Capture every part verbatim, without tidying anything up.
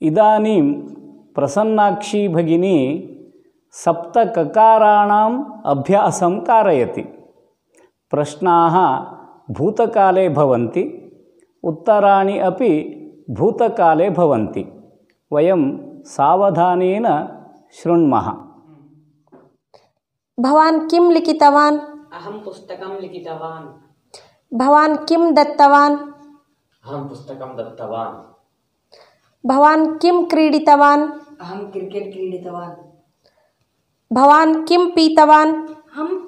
इदानीं प्रसन्नाक्षी भगिनी सप्तककाराणाम् अभ्यासं कारयति। प्रश्नाः भूतकाले भवन्ति, उत्तराणि अपि भूतकाले भवन्ति। वयं सावधानेन शृण्मः। भवान् किं लिखितवान्? अहं पुस्तकं लिखितवान्। भवान् किं दत्तवान्? अहं पुस्तकं दत्तवान्। भवान् किं क्रीडितवान्? अहं क्रिकेट् क्रीडितवान्। भवान् किं पीतवान्? अहम्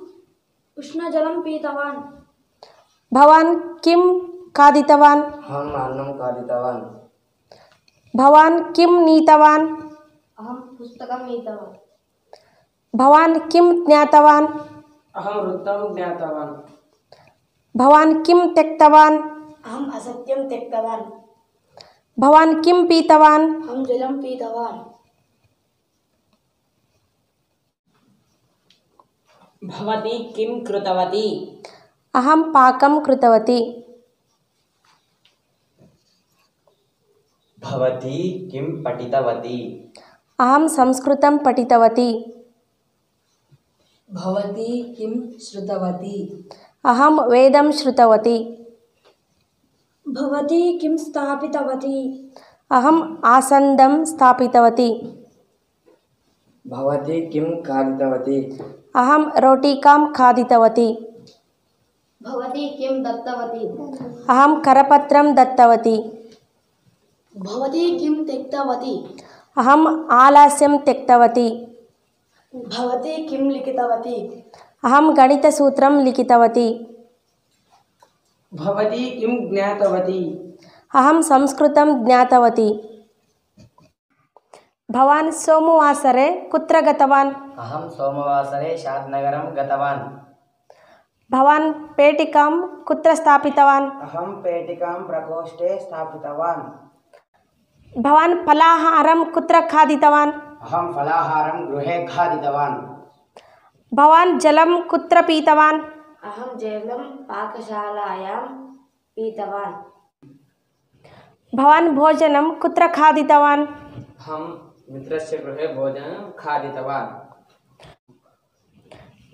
उष्णजलं पीतवान्। भवान् किं खादितवान्? अहम् अन्नं खादितवान्। भवान् किं नीतवान्? अहं पुस्तकं नीतवान्। भवान् किं ज्ञातवान्? अहं वृत्तं ज्ञातवान्। भवान् किं त्यक्तवान्? अहम् असत्यं त्यक्तवान्। भवान् किं पीतवान्? अहं जलं पीतवान्। भवती किं कृतवती? अहं पाकं कृतवती। भवती किं पठितवती? अहं संस्कृतं पठितवती। भवती किं श्रुतवती? अहं वेदं श्रुतवती। भवती किं स्थापितवती? अहम् आसन्दं स्थापितवती। भवती किं खादितवती? अहं रोटिकां खादितवती। भवती किं दत्तवती? अहं करपत्रं दत्तवती। भवती किं त्यक्तवती? अहम् आलस्यं त्यक्तवती। भवती किं लिखितवती? अहं गणितसूत्रं लिखितवती। भवती किं ज्ञातवती? अहं संस्कृतं ज्ञातवती। भवान् सोमवासरे कुत्र गतवान्? अहं सोमवासरे शाद्नगरं गतवान्। भवान् पेटिकां कुत्र स्थापितवान्? अहं पेटिकां प्रकोष्ठे स्थापितवान्। भवान् फलाहारं कुत्र खादितवान्? अहं फलाहारं गृहे खादितवान्। भवान् जलं कुत्र पीतवान्? अहं जलं पाकशालायां पीतवान्। भवान् भोजनं कुत्र खादितवान्? अहं मित्रस्य गृहे भोजनं खादितवान्।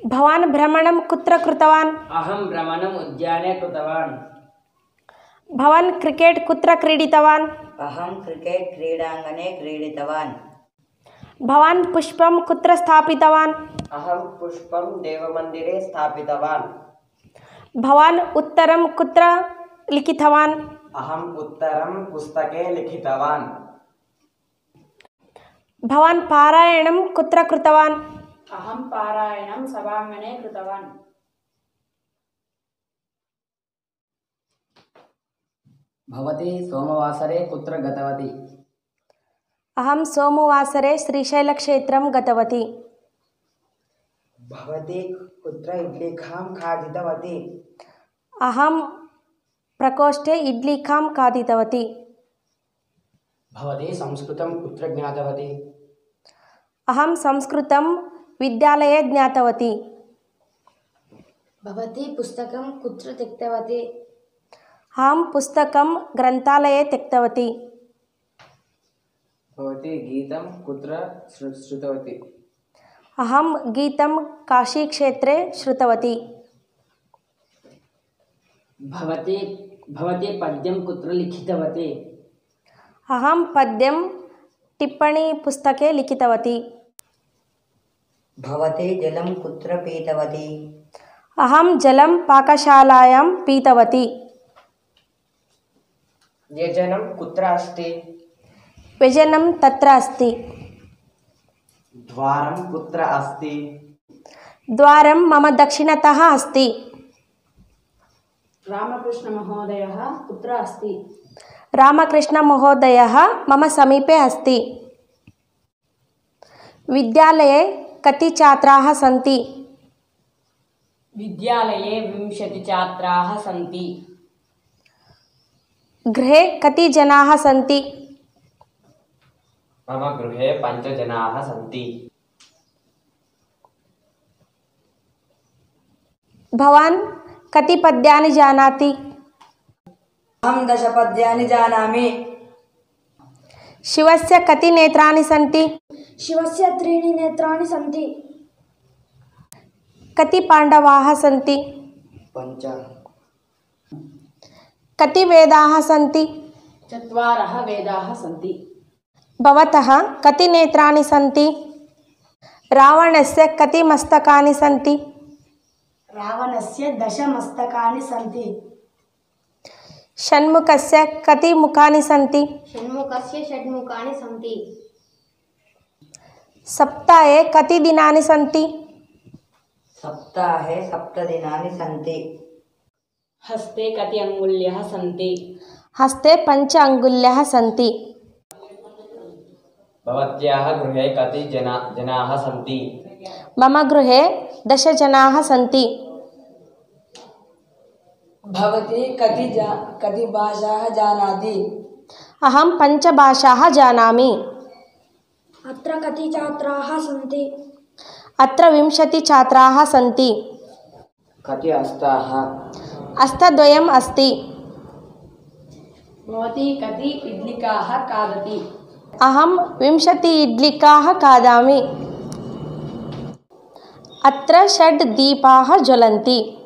भवान् भ्रमणं कुत्र कृतवान्? अहं भ्रमणम् उद्याने कृतवान्। भवान् क्रिकेट् कुत्र क्रीडितवान्? अहं क्रिकेट् क्रीडाङ्गणे क्रीडितवान्। भवान् पुष्पं कुत्र स्थापितवान्? अहं पुष्पं देवमन्दिरे स्थापितवान्। भवान् उत्तरं कुत्र लिखितवान्? अहम् उत्तरं पुस्तके लिखितवान्। भवान् पारायणं कुत्र कृतवान्? अहं पारायणं सभाङ्गणे कृतवान्। भवती सोमवासरे कुत्र गतवती? अहं सोमवासरे श्रीशैलक्षेत्रं गतवती। भवती कुत्र इड्लिकां खादितवती? अहं प्रकोष्ठे इड्लिकां खादितवती। भवती संस्कृतं कुत्र ज्ञातवती? अहं संस्कृतं विद्यालये ज्ञातवती। भवती पुस्तकं कुत्र त्यक्तवती? अहं पुस्तकं ग्रन्थालये त्यक्तवती। भवती गीतं कुत्र श्रुतवती? अहं गीतं काशीक्षेत्रे श्रुतवती। भवती भवती पद्यं कुत्र लिखितवती? अहं पद्यं टिप्पणीपुस्तके लिखितवती। भवती जलं कुत्र पीतवती? अहं जलं पाकशालायां पीतवती। व्यजनं कुत्र अस्ति? व्यजनं तत्र अस्ति। द्वारं कुत्र अस्ति? द्वारं मम दक्षिणतः अस्ति। रामकृष्णमहोदयः कुत्र अस्ति? रामकृष्णमहोदयः मम समीपे अस्ति। विद्यालये कति छात्राः सन्ति? विद्यालये विंशतिः छात्राः सन्ति। गृहे कति जनाः सन्ति? मम गृहे पञ्चजनाः सन्ति। भवान् कति पद्यानि जानाति? अहं दश पद्यानि जानामि। शिवस्य कति नेत्राणि सन्ति? शिवस्य त्रीणि नेत्राणि सन्ति। कति पाण्डवाः सन्ति? पञ्च। कति वेदाः सन्ति? चत्वारः वेदाः सन्ति। भवतः कति नेत्राणि सन्ति? रावणस्य कति मस्तकानि सन्ति? रावणस्य दश मस्तकानि सन्ति। षण्मुखस्य कति मुखानि सन्ति? षण्मुखस्य षड्मुखानि सन्ति। सप्ताहे कति दिनानि सन्ति? सप्ताहे सप्तदिनानि सन्ति। हस्ते कति अङ्गुल्यः सन्ति? हस्ते पञ्च अङ्गुल्यः सन्ति। भवत्याः गृहे कति जना जनाः सन्ति? मम गृहे दश जनाः सन्ति। भवती कति जा कति भाषाः जानाति? अहं पञ्चभाषाः जानामि। अत्र कति छात्राः सन्ति? अत्र विंशतिछात्राः सन्ति। कति हस्ताः? हस्तद्वयम् अस्ति। भवती कति इड्लिकाः खादति? अहं विंशति इड्लिकाः खादामि। अत्र षड् दीपाः ज्वलन्ति।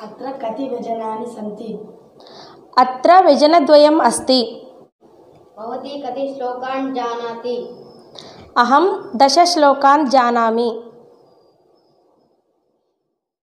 अत्र कति व्यजनानि सन्ति? अत्र व्यजनद्वयम् अस्ति। भवती कति श्लोकान् जानाति? अहं दश श्लोकान् जानामि।